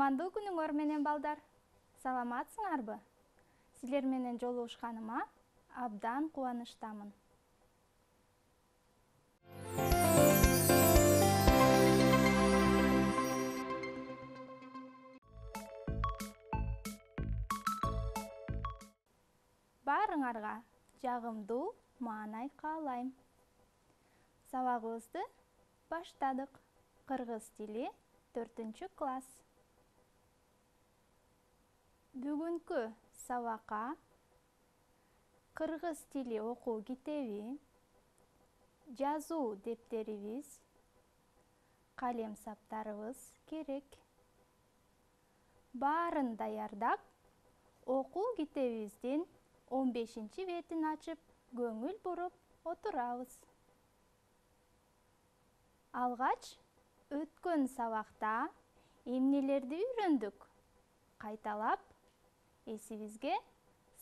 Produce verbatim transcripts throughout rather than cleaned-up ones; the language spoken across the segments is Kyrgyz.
Кутмандуу күнүңөр менен балдар. Саламатсыңарбы? Силер менен жолугушканыма абдан кубанычтамын. Баарыңарга жагымдуу маанай каалайм. Сабагыбызды баштадык. Кыргыз тили төртүнчү класс. Бүгүнкү сабакка кыргыз тили окуу китеби, жазуу дептерибиз, калем саптарыбыз керек. Баарын даярдап, окуу китебибиздин он бешинчи бетин ачып, көңүл буруп отурабыз. Алгач өткөн сабакта эмнелерди үйрөндүк? Кайталап эсибизге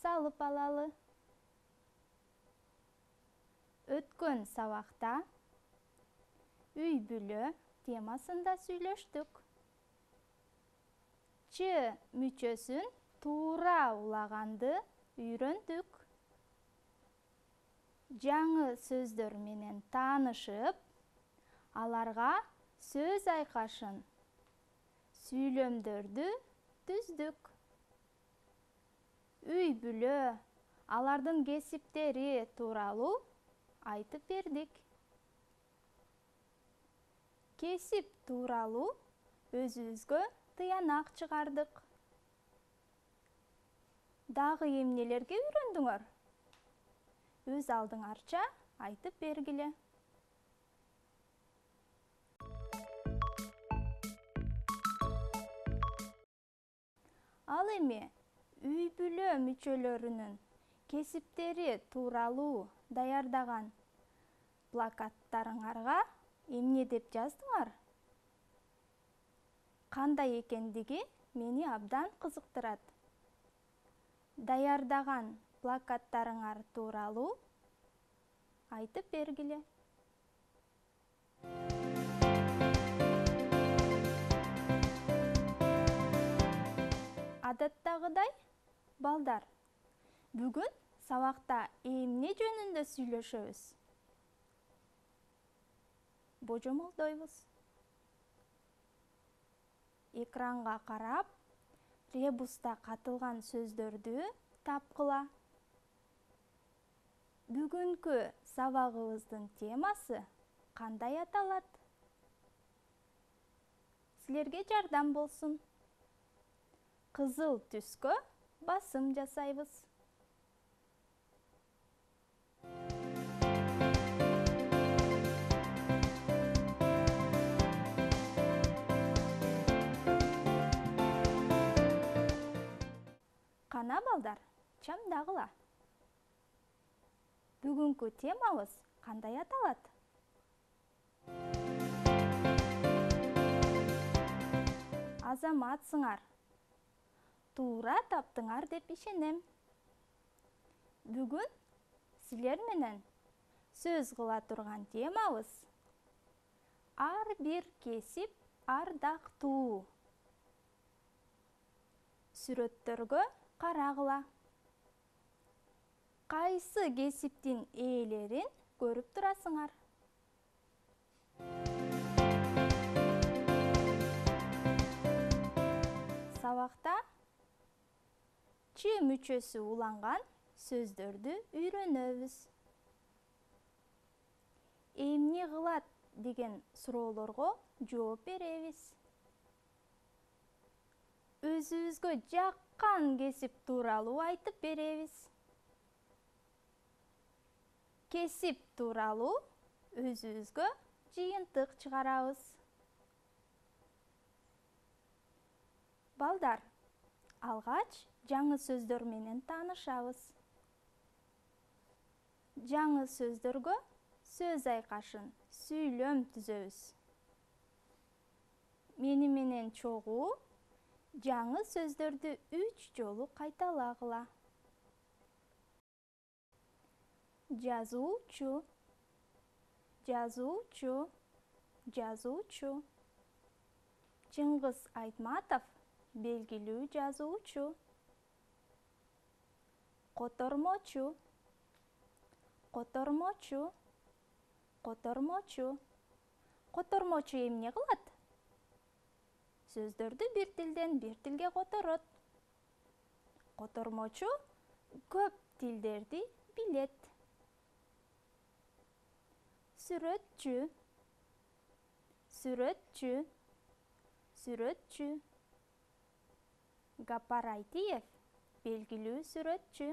салып алалы. Өткөн сабакта үй-бүлө темасында сүйлөштүк. Ч мүчөсүн туура улаганды үйрөндүк. Жаңы сөздөр менен таанышып, аларга сөз айкашын, сүйлөмдөрдү түздүк. Үй-бүлө, алардын кесиптери тууралуу айтып бердик. Кесип тууралуу өзүбүзгө тыянак чыгардык. Дагы эмнелерге үйрөндүңөр? Өз алдыңарча айтып бергиле. Ал эми үй-бүлө мүчөлөрүнүн кесиптери тууралуу даярдаган плакаттарыңарга эмне деп жаздыңар? Кандай экендиги мени абдан кызыктырат. Даярдаган плакаттарыңар тууралуу айтып бергиле. Адаттагыдай, балдар, бүгүн сабакта эмне жөнүндө сүйлөшөбүз? Божомолдойбуз. Экранга карап, ребуста катылган сөздөрдү тапкыла. Бүгүнкү сабагыбыздын темасы кандай аталат? Силерге жардам болсун. Кызыл түскө басым жасайбыз. Кана балдар, чамдагыла. Бүгүнкү темабыз кандай аталат? Азаматсыңар. Туура таптыңар деп ишенем. Бүгүн силер менен сөз кыла турган темабыз ар бир кесип ардактуу. Сүрөттөргө карагыла. Кайсы кесиптин ээлерин көрүп турасыңар? Сабакта Ч мүчөсү уланган сөздөрдү үйрөнөбүз. Эмне кылат деген суроолорго жооп беребиз. Өзүбүзгө жаккан кесип тууралуу айтып беребиз. Кесип тууралуу өзүбүзгө жыйынтык чыгарабыз. Балдар, алгач жаңы сөздөр менен таанышабыз. Жаңы сөздөргө сөз айкашын, сүйлөм түзөбүз. Мени менен чогуу жаңы сөздөрдү үч жолу кайталагыла. Жазуучу, жазуучу, жазуучу. Чыңгыз Айтматов белгилүү жазуучу. Котормочу. Котормочу. Котормочу. Котормочу эмне кылат? Сөздөрдү бир тилден бир тилге которот. Котормочу көп тилдерди билет. Сүрөтчү. Сүрөтчү. Сүрөтчү. Гапар Айтиев белгилүү сүрөтчү.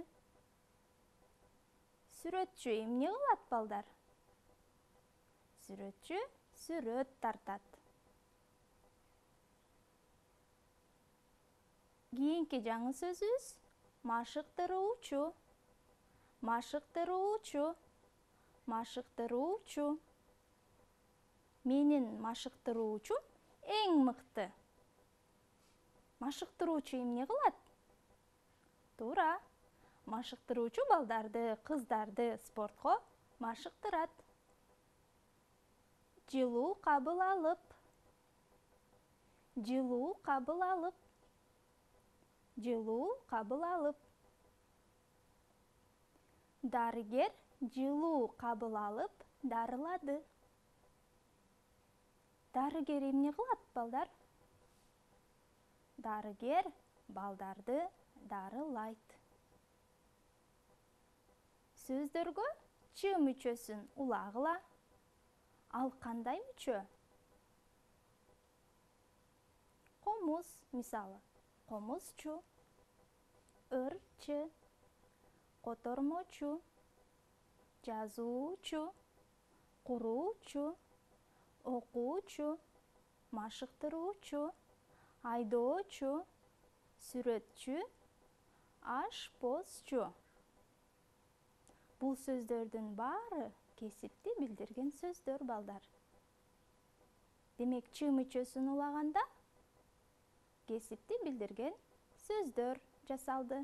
Сүрөтчү эмне кылат, балдар? Сүрөтчү сүрөт тартат. Кийинки жаңы сөзүбүз машыктыруучу. Машыктыруучу. Машыктыруучу. Менин машыктыруучум эң мыкты. Машыктыруучу эмне кылат? Туура. Машыктыруучу балдарды, кыздарды спортко машыктырат. Жылуу кабыл алып. Жылуу кабыл алып. Жылуу кабыл алып. Дарыгер жылуу кабыл алып дарылады. Дарыгер эмне кылат, балдар? Дарыгер балдарды дарылайт. Сөздөргө ч мүчөсүн улагыла. Ал кандай мүчө? Комуз, мисалы. Комузчу. Ырчы. Котормочу. Жазуучу. Куруучу. Окуучу. Машыктыруучу. Айдоочу. Сүрөтчү. Ашпозчу. Бул сөздөрдүн баары кесипти билдирген сөздөр, балдар. Демек, ч мүчөсүн улаганда кесипти билдирген сөздөр жасалды.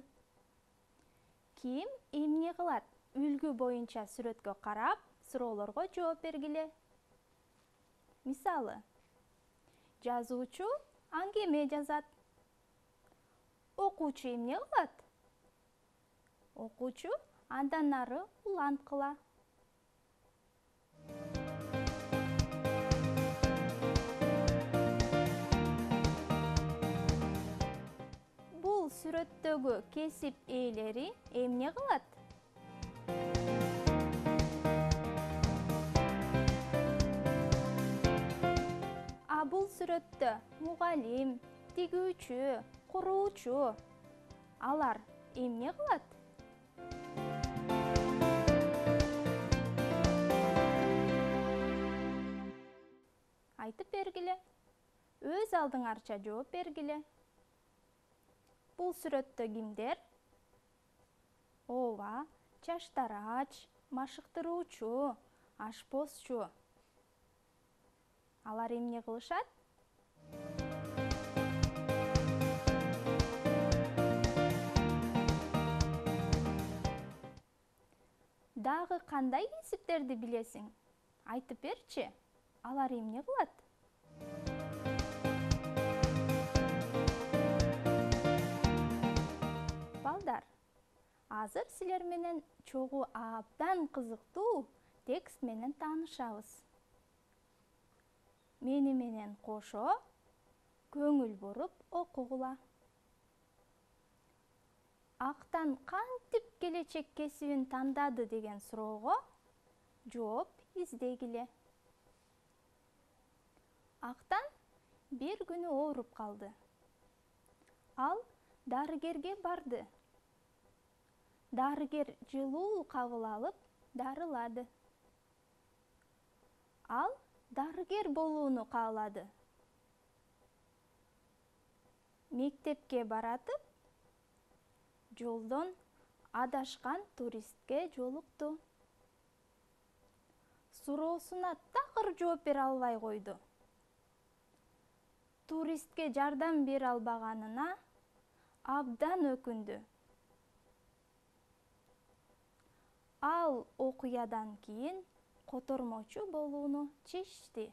Ким эмне кылат? Үлгү боюнча сүрөткө карап, суроолорго жооп бергиле. Мисалы, жазуучу аңгеме жазат. Окуучу эмне кылат? Окуучу андан ары улант кыла. Бул сүрөттөгү кесип ээлери эмне кылат? А бул сүрөттө мугалим, тигүүчү, куруучу алар эмне кылат? Айтып бергиле. Өз алдыңарча жооп бергиле. Бул сүрөттө кимдер? Ооба, чачтарач, машыктыруучу, ашпозчу. Алар эмне кылышат? Дагы кандай кесиптерди билесиң? Айтып берчи. Алар эмне кылат? Балдар, азыр силер менен чогуу абдан кызыктуу текст менен таанышабыз. Мени менен кошо көңүл буруп окугула. Актан кантип келечек кесибин тандады деген суроого жооп издегиле. Актан бир күнү ооруп калды. Ал дарыгерге барды. Дарыгер жылуу кабыл алып дарылады. Ал дарыгер болууну каалады. Мектепке баратып, жолдон адашкан туристке жолукту. Суроосуна такыр жооп бере албай койду. Туристке жардам бере албаганына абдан өкүндү. Ал окуядан кийин котормочу болууну чечти.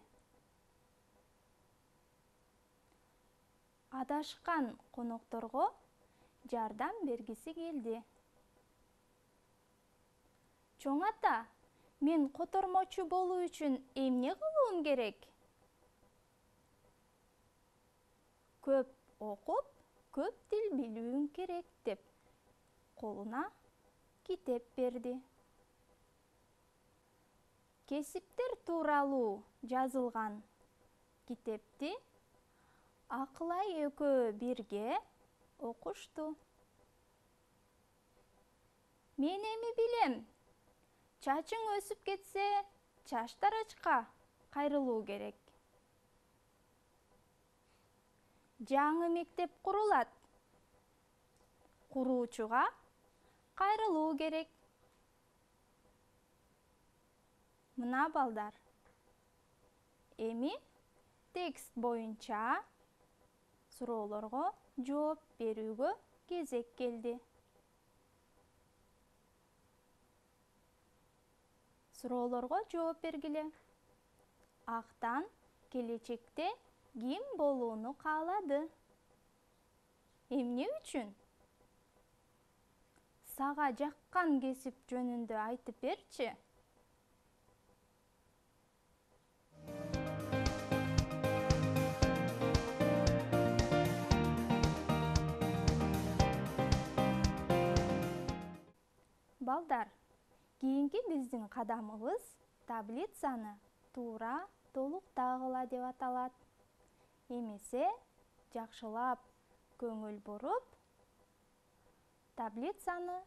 адашкан конокторго жардам бергиси келди. Чоң ата, мен котормочу болуу үчүн эмне кылуум керек? Көп окуп, көп тил билүүң керек деп колуна китеп берди. Кесиптер тууралуу жазылган китепти Акылай экөө бирге окушту. Мен эми билем, чачың өсүп кетсе, чач тарачка кайрылуу керек. Жаңы мектеп курулат. Куруучуга кайрылуу керек. Мына балдар, эми текст боюнча суроолорго жооп берүүгө кезек келди. Суроолорго жооп бергиле. Актан келечекте ким болууну каалады? Эмне үчүн? Сага жаккан кесип жөнүндө айтып берчи. Балдар, кийинки биздин кадамыбыз таблицаны туура толуктагыла деп аталат. Эмесе жакшылап көңүл буруп, таблицаны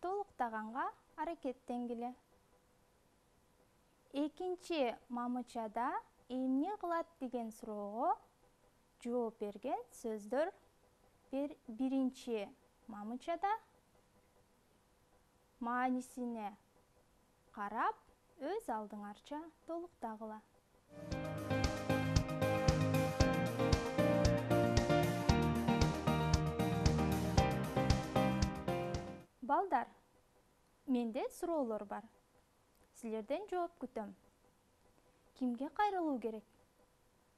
толуктаганга аракеттенгиле. Экинчи мамычада эмне кылат деген суроого жооп берген сөздөр биринчи мамычада маанисине карап, өз алдыңарча толуктагыла. Балдар, менде суроолор бар. Силерден жооп күтөм. Кимге кайрылуу керек?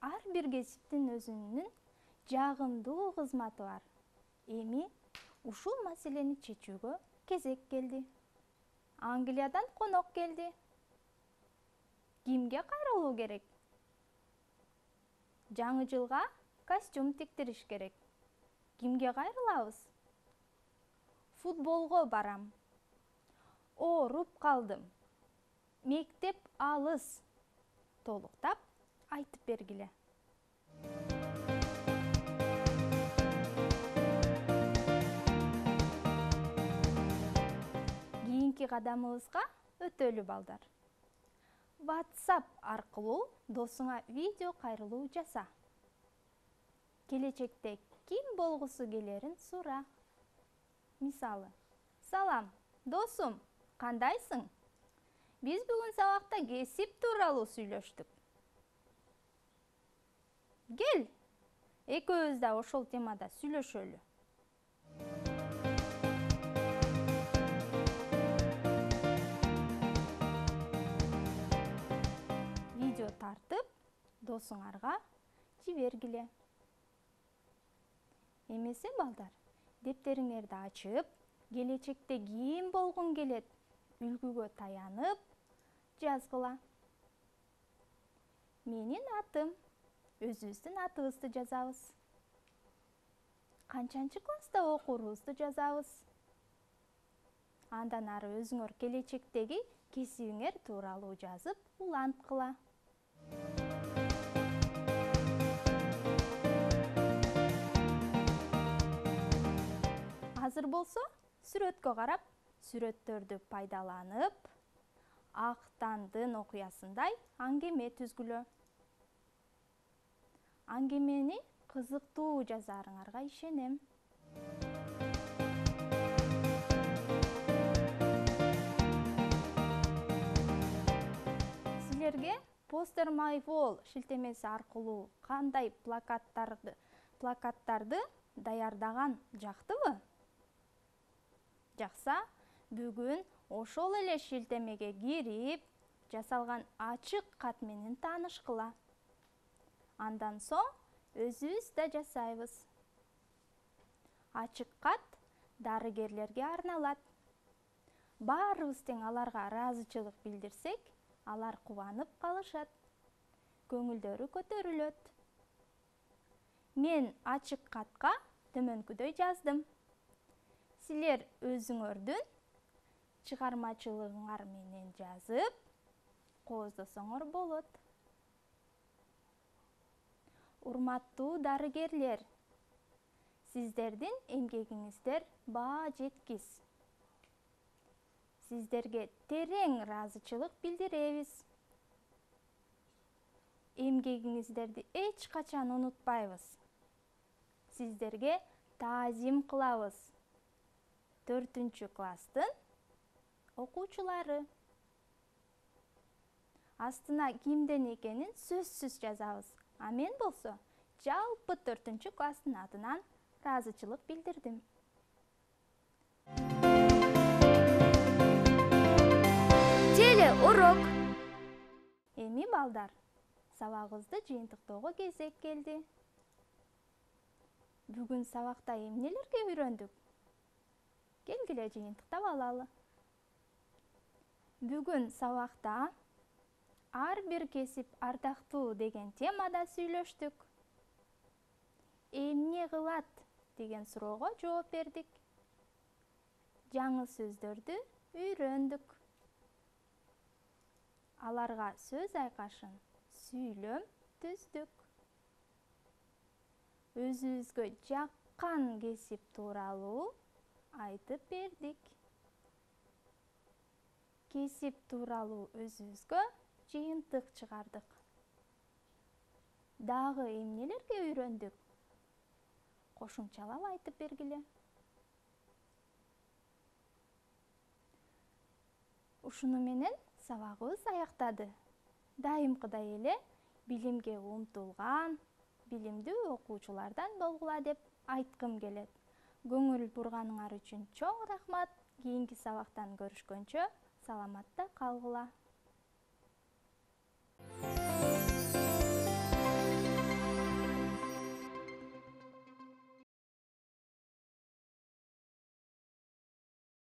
Ар бир кесиптин өзүнүн жагымдуу кызматы бар. Эми ушул маселени чечүүгө кезек келди. Англиядан конок келди. Кимге кайрылуу керек? Жаңы жылга костюм тиктириш керек. Кимге кайрылабыз? Футболго барам. Ооруп калдым. Мектеп алыс. Толуктап айтып бергиле. Кийинки кадамыбызга өтөлү балдар. WhatsApp аркылуу досуңа видео кайрылуу жаса. Келечекте ким болгусу келерин сура. Мисалы, салам, досум, кандайсың? Биз бүгүн сабакта кесип тууралуу сүйлөштүк. Кел, экөөбүз да ошол темада сүйлөшөлү. Видео тартып, досуңарга жибергиле. Эмесе балдар, дептериңерди ачып, келечекте ким болгуң келет, үлгүгө таянып, жазгыла. Менин атым, өзүбүздүн атыбызды жазабыз. Канчанчы класста окуурубузду жазабыз. Андан ары өзүңөр келечектеги кесибиңер тууралуу жазып, уланткыла. Азыр болсо, сүрөткө карап, сүрөттөрдү пайдаланып, Актандын окуясындай аңгеме түзгүлө. Аңгемени кызыктуу жазаарыңарга ишенем. Силерге Poster My Wall шилтемеси аркылуу кандай плакаттарды плакаттарды даярдаган жактыбы? Жакса, бүгүн ошол эле шилтемеге кирип, жасалган ачык кат менен таанышкыла. Андан соң өзүбүз да жасайбыз. ачык кат дарыгерлерге арналат. Баарыбыз тең аларга ыраазычылык билдирсек, алар кубанып калышат, көңүлдөрү көтөрүлөт. Мен ачык катка төмөнкүдөй жаздым. Силер өзүңөрдүн чыгармачылыгыңар менен жазып, кооздосоңор болот. Урматтуу дарыгерлер, сиздердин эмгегиңиздер баа жеткис. Сиздерге терең ыраазычылык билдиребиз. Эмгегиңиздерди эч качан унутпайбыз. Сиздерге таазим кылабыз. Төртүнчү класстын окуучулары. Астына кимден экенин сөзсүз жазабыз. А мен болсо жалпы төртүнчү класстын атынан ыраазычылык билдирдим. Теле урок. Эми балдар, сабагыбызды жыйынтыктоого кезек келди. Бүгүн сабакта эмнелерге үйрөндүк? Келгиле жыйынтыктап алалы. Бүгүн сабакта ар бир кесип ардактуу деген темада сүйлөштүк. Эмне кылат деген суроого жооп бердик. Жаңы сөздөрдү үйрөндүк. Аларга сөз айкашын сүйлөм түздүк. Өзүбүзгө жаккан кесип тууралуу айтып бердик. Кесип тууралуу өзүбүзгө жыйынтык чыгардык. Дагы эмнелерге үйрөндүк? Кошумчалап айтып бергиле. Ушуну менен сабагыбыз аяктады. Дайымкыдай эле билимге умтулган, билимдүү окуучулардан болгула деп айткым келет. Көңүл бурганыңар үчүн чоң рахмат. Кийинки сабактан көрүшкөнчө саламатта калгыла.